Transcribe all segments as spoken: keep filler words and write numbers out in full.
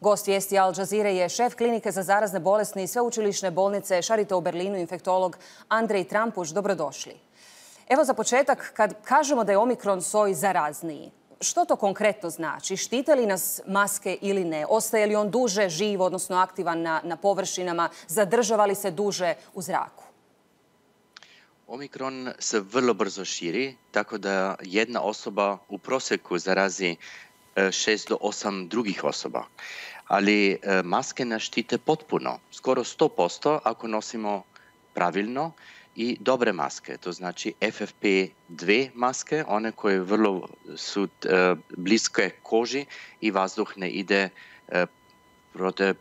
Gost vijesti Al Jazeere je šef klinike za zarazne bolesti i sveučilišne bolnice Charité u Berlinu, infektolog Andrej Trampuš. Dobrodošli. Evo za početak, kad kažemo da je omikron soj zarazniji, što to konkretno znači? Štite li nas maske ili ne? Ostaje li on duže živ, odnosno aktivan na, na površinama? Zadržava li se duže u zraku? Omikron se vrlo brzo širi, tako da jedna osoba u prosjeku zarazi šest do osam drugih osoba. Ali maske nas štite potpuno, skoro sto posto ako nosimo pravilno i dobre maske. To znači F F P dva maske, one koje vrlo su bliske koži i vazduh ne ide protiv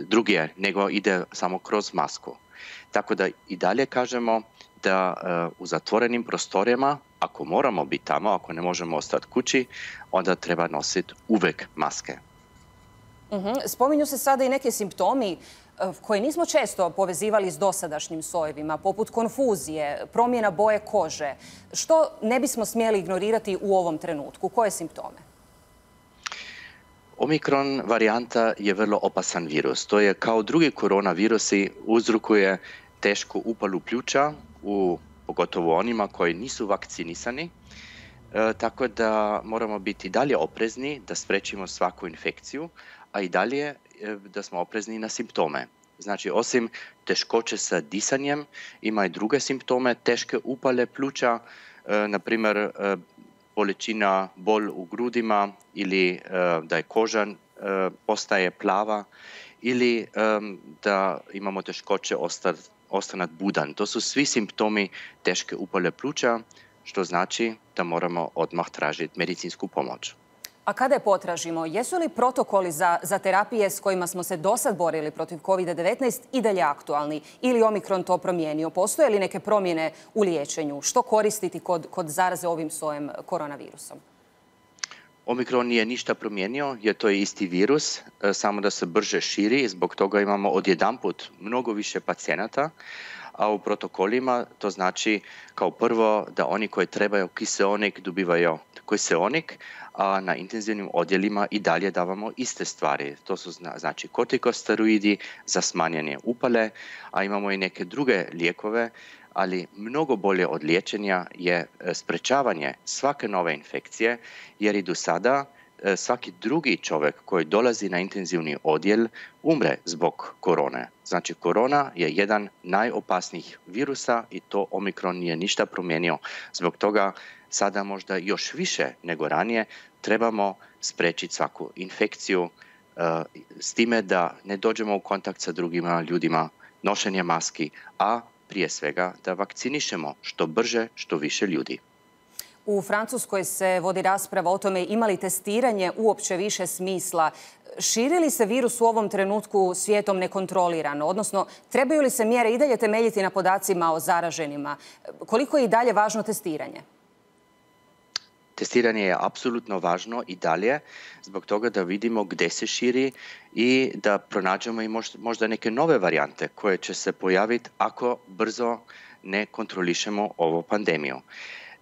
druge, nego ide samo kroz masku. Tako da i dalje kažemo da u zatvorenim prostorijama, ako moramo biti tamo, ako ne možemo ostati kući, onda treba nositi uvijek maske. Uh-huh. Spominju se sada i neke simptomi koje nismo često povezivali s dosadašnjim sojevima, poput konfuzije, promjena boje kože. Što ne bismo smjeli ignorirati u ovom trenutku? Koje simptome? Omikron varijanta je vrlo opasan virus. To je kao drugi koronavirusi uzrokuje tešku upalu pljuča, u, pogotovo onima koji nisu vakcinisani. E, tako da moramo biti dalje oprezni da sprečimo svaku infekciju, a i dalje e, da smo oprezni na simptome. Znači, osim teškoće sa disanjem, ima i druge simptome, teške upale pluća, e, na primjer e, bolečina, bol u grudima ili e, da je koža e, postaje plava ili e, da imamo teškoće ostati ostanat budan. To su svi simptomi teške upale pluća, što znači da moramo odmah tražiti medicinsku pomoć. A kada je potražimo, jesu li protokoli za, za terapije s kojima smo se dosad borili protiv kovid devetnaest i dalje aktualni? Ili Omikron to promijenio? Postoje li neke promjene u liječenju? Što koristiti kod, kod zaraze ovim sojem koronavirusom? Omikron nije ništa promijenio, jer to je isti virus, samo da se brže širi i zbog toga imamo odjedanput mnogo više pacijenata, a u protokolima to znači kao prvo da oni koji trebaju kiseonik dobivaju kiseonik, a na intenzivnim odjelima i dalje davamo iste stvari. To su znači kortikosteroidi za smanjenje upale, a imamo i neke druge lijekove, ali mnogo bolje od liječenja je sprečavanje svake nove infekcije, jer i do sada svaki drugi čovjek koji dolazi na intenzivni odjel umre zbog korone. Znači, korona je jedan najopasnijih virusa i to Omikron nije ništa promijenio. Zbog toga sada možda još više nego ranije trebamo spriječiti svaku infekciju uh, s time da ne dođemo u kontakt sa drugima ljudima, nošenje maski, a prije svega da vakcinišemo što brže, što više ljudi. U Francuskoj se vodi rasprava o tome ima li testiranje uopće više smisla. Širi li se virus u ovom trenutku svijetom nekontrolirano? Odnosno, trebaju li se mjere i dalje temeljiti na podacima o zaraženima? Koliko je i dalje važno testiranje? Testiranje je apsolutno važno i dalje, zbog toga da vidimo gdje se širi i da pronađemo i možda neke nove varijante koje će se pojaviti ako brzo ne kontrolišemo ovu pandemiju.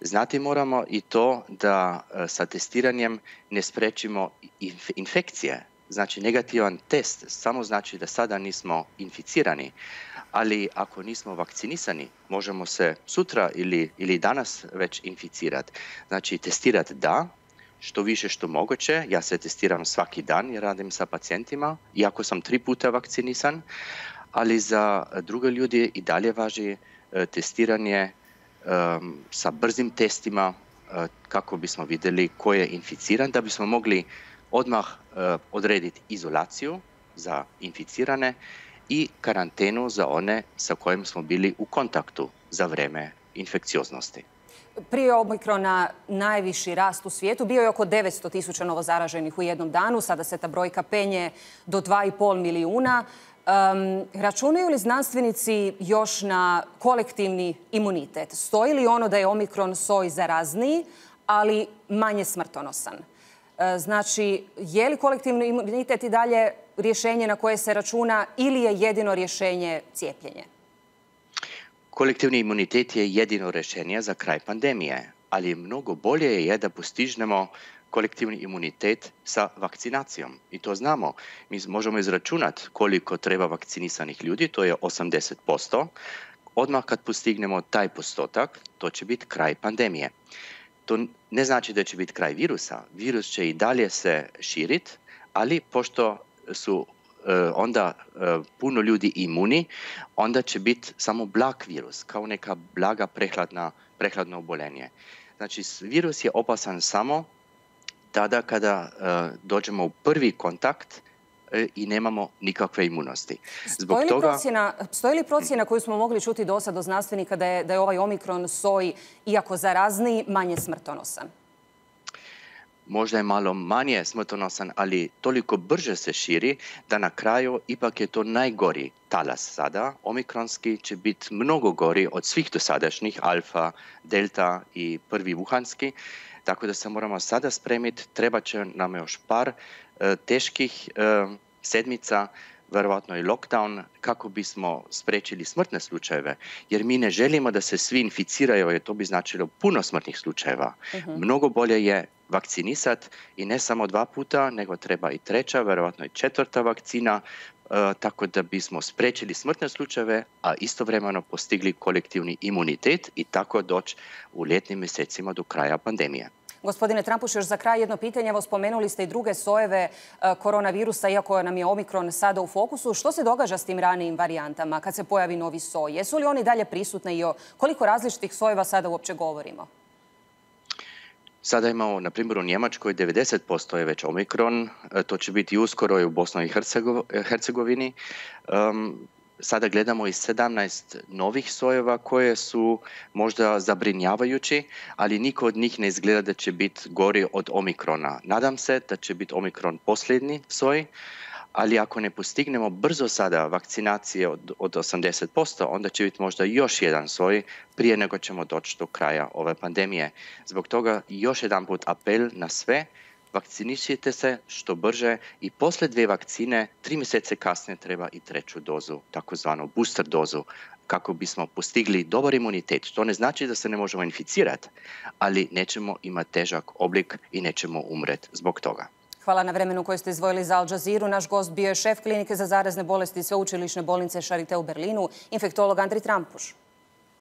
Znati moramo i to da sa testiranjem ne sprečimo infekcije. Znači, negativan test samo znači da sada nismo inficirani, ali ako nismo vakcinisani, možemo se sutra ili, ili danas već inficirati. Znači, testirati da, što više što moguće. Ja se testiram svaki dan jer radim sa pacijentima, iako sam tri puta vakcinisan, ali za druge ljudi i dalje važi testiranje um, sa brzim testima uh, kako bismo vidjeli ko je inficiran, da bismo mogli odmah uh, odrediti izolaciju za inficirane i karantenu za one sa kojim smo bili u kontaktu za vrijeme infekcioznosti. Prije Omikrona najviši rast u svijetu bio je oko devetsto tisuća novozaraženih u jednom danu. Sada se ta brojka penje do dva i pol milijuna. Um, računaju li znanstvenici još na kolektivni imunitet? Stoji li ono da je Omikron soj zarazniji, ali manje smrtonosan? E, znači, je li kolektivni imunitet i dalje rješenje na koje se računa ili je jedino rješenje cijepljenje? Kolektivni imunitet je jedino rješenje za kraj pandemije, ali mnogo bolje je da postižnemo kolektivni imunitet sa vakcinacijom. I to znamo. Mi možemo izračunati koliko treba vakcinisanih ljudi, to je osamdeset posto. Odmah kad postignemo taj postotak, to će biti kraj pandemije. To ne znači da će biti kraj virusa. Virus će i dalje se širiti, ali pošto su e, onda e, puno ljudi imuni, onda će biti samo blag virus, kao neka blaga prehladna, prehladno obolenje. Znači, virus je opasan samo tada kada e, dođemo u prvi kontakt e, i nemamo nikakve imunosti. Zbog stoji, li toga... procjena, stoji li procjena koju smo mogli čuti do sad od znanstvenika da je, da je ovaj omikron soj, iako zarazni, manje smrtonosan? Možda je malo manje smrtonosan, ali toliko brže se širi da na kraju ipak je to najgori talas sada. Omikronski će biti mnogo gori od svih dosadašnjih, alfa, delta i prvi wuhanski. Tako da se moramo sada spremiti, treba će nam još par e, teških e, sedmica, vjerojatno i lockdown, kako bismo spriječili smrtne slučajeve. Jer mi ne želimo da se svi inficiraju, jer to bi značilo puno smrtnih slučajeva. Uh-huh. Mnogo bolje je vakcinisati i ne samo dva puta, nego treba i treća, vjerojatno i četvrta vakcina, e, tako da bismo spriječili smrtne slučajeve, a istovremeno postigli kolektivni imunitet i tako doći u ljetnim mjesecima do kraja pandemije. Gospodine Trampuš, još za kraj jedno pitanje. Evo, spomenuli ste i druge sojeve koronavirusa, iako nam je omikron sada u fokusu. Što se događa s tim ranijim varijantama kad se pojavi novi soj? Jesu li oni dalje prisutne i o koliko različitih sojeva sada uopće govorimo? Sada imamo, na primjer, u Njemačkoj devedeset posto je već omikron. To će biti uskoro i u Bosni i Hercegovini. Um, Sada gledamo i sedamnaest novih sojeva koje su možda zabrinjavajući, ali niko od njih ne izgleda da će biti gori od omikrona. Nadam se da će biti omikron posljednji soj, ali ako ne postignemo brzo sada vakcinacije od, od osamdeset posto, onda će biti možda još jedan soj prije nego ćemo doći do kraja ove pandemije. Zbog toga još jedan put apel na sve, vakcinišite se što brže i poslije dvije vakcine, tri mjesece kasnije treba i treću dozu, takozvanu booster dozu, kako bismo postigli dobar imunitet. To ne znači da se ne možemo inficirati, ali nećemo imati težak oblik i nećemo umreti zbog toga. Hvala na vremenu koje ste izdvojili za Al Jazeeru. Naš gost bio je šef klinike za zarazne bolesti Sveučilišne bolnice Charité u Berlinu, infektolog Andrij Trampuš.